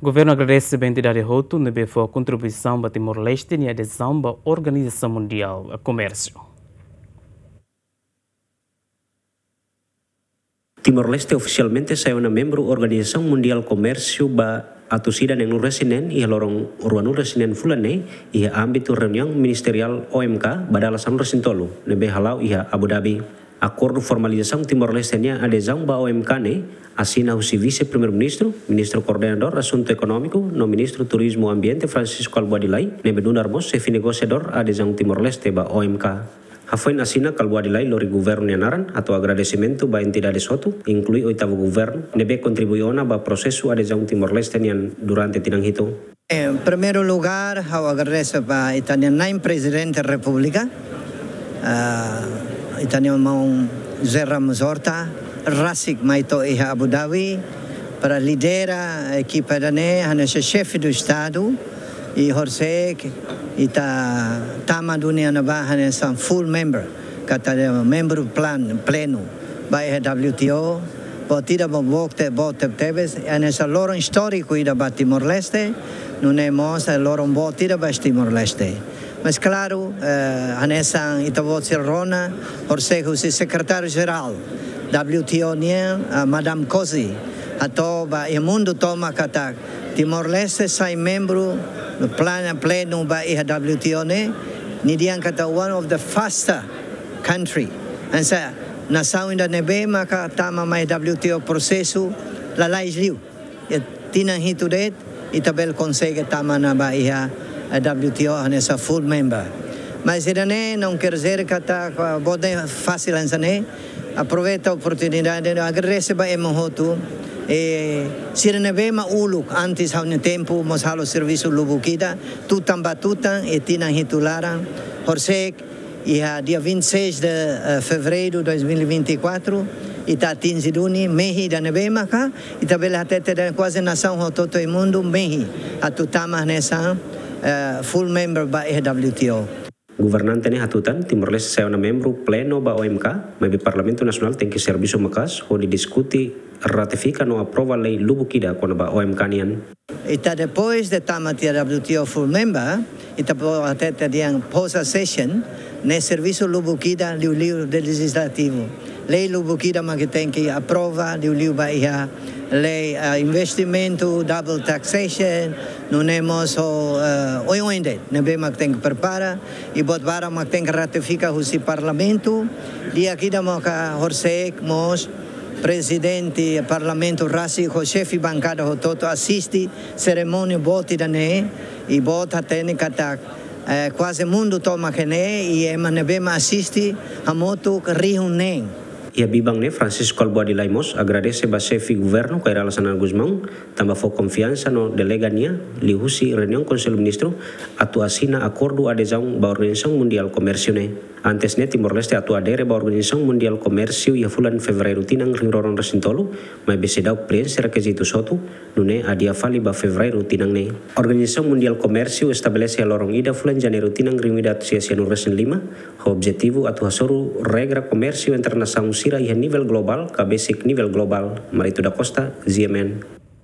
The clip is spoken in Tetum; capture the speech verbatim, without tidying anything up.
Governu agradese ba entidade hotu ne'ebé fó kontribuisaun ba Timor-Leste nia adezaun ba Organizasaun Mundiál Komérsiu. Timor-Leste ofisialmente sai ona membru Organizasaun Mundiál Komérsiu ba atus ida neenulu resin neen iha loron ruanulu resin neen fulan ne'e, iha ámbitu reuniaun ministeriál O M K ba dala sanulu resin tolu, ne'ebé hala'o iha Abu Dhabi. Akordu formalizasaun Timor-Leste nia adezaun ba O M K ne'e asina husi Vise-Primeiru-Ministru, Ministru Koordenadór Asuntu Ekonómiku no Ministru Turizmu Ambiente Francisco Kalbuadi Lay, ne'ebé nu'udar mós xefe negosiadór adezaun Timor-Leste ba O M K. Hafoin asina, Kalbuadi Lay lori governu nia naran atu agradesimentu ba entidade hotu, inklui oitavu governu, ne'ebé kontribui ona ba prosesu adezaun Timor-Leste nian durante tinan hitu. Em primeiro lugar, ha'u agradese ba ita-nia Na'in Prezidente Repúblika, ah, ita-nia maun José Ramos Horta, rasik mai to'o iha Abu Dhabi, para lidera ekipa ida-ne'e, hanesan xefe do Estadu, i horisehik ita tama duni ona ba hanesan full member, katak membru plan-, plenu ba iha W T O, boot ida boot te-, boot tebetebes, hanesan loron istóriku ida ba Timor-Leste, nune'e mós loron boot ida ba Timor-Leste. Mas klaru, eh, hanesan ita-boot sira rona, horisehik husi Sekretáriu Jerál W T O nian, eh, Madame Cossy, hato'o ba iha mundu tomak katak Timor-Leste sai membru plan-, plenu ba iha W T O ne'e, nia dehan katak one of the faster country. Hanesan nasaun ida ne'ebé maka tama mai W T O prosesu lalais liu. Iha tinan hitu de'it, ita bele konsege tama ona ba iha, eh, W T O hanesan full member. Mas ida-ne'e não quer dizer katak, ah, boot ne'e fasil hanesan ne'e. Aproveita oportunidade, agradese ba ema hotu. E sira ne'ebé mak uluk, antes ha'u-nia tempu, mós halo servisu lubuk ida, tutan ba tutan, e tinan hitu laran, horisehik, iha dia vinte e seis de, eh, fevereiro de dois mil e vinte e quatro, ita atinje duni mehi ida ne'ebé maka ita bele hatete dehan kuaze nasaun hotu-hotu iha mundu mehi atu tama hanesan, eh, full member ba iha W T O. Governante ne'e hatutan, Timor-Leste sai ona membru plenu ba O M K, maibé Parlamentu Nasionál tenke servisu maka'as hodi diskuti, ratifika no aprova lei lubuk ida kona-ba O M K nian. Ita depois de tama tiha W T O full member, ita bele hatete dehan post accession, ne'e servisu lubuk ida liuliu de lejizlativu. Lei lubuk ida mak tenke aprova, liuliu ba iha lei, ah, investimentu, double taxation, nune'e mós, ah, oioin de'it ne'ebé mak tenke prepara, i buat barak mak tenke ratifika husi Parlamentu, di'ak ida maka horisehik mós Prezidente Parlamentu rasik ho xefe bankada hotu-hotu asiste serimónia boot ida-ne'e, i boot hatene katak, eh, kuaze mundu tomak ne'e, i ema ne'ebé mak asiste hamutuk rihun neen. Iha biban ne'e, Francisco Kalbuadi Lay mós agradese ba xefe governu Kay Rala Xanana Gusmão, tanba fó konfiansa no delega nia, liuhusi reuniaun Konsellu Ministru, atu asina akordu adezaun ba Organizasaun Mundiál Komérsiu ne'e. Antes ne'e, Timor-Leste atu adere ba Organizasaun Mundiál Komérsiu iha fulan Fevereiru tinan rihun rua ruanulu resin tolu, maibé seidauk preenxe rekizitu hotu, nune'e adia fali ba Fevereiru tinan ne'e. Organizasaun Mundiál Komérsiu estabelese iha loron ida fulan Janeiru tinan rihun ida atus sia sianulu resin lima, ho objetivu atu hasoru regra komérsiu entre nasaun sira iha nivel globál, ka besik nivel globál. Marito da Costa, G M N.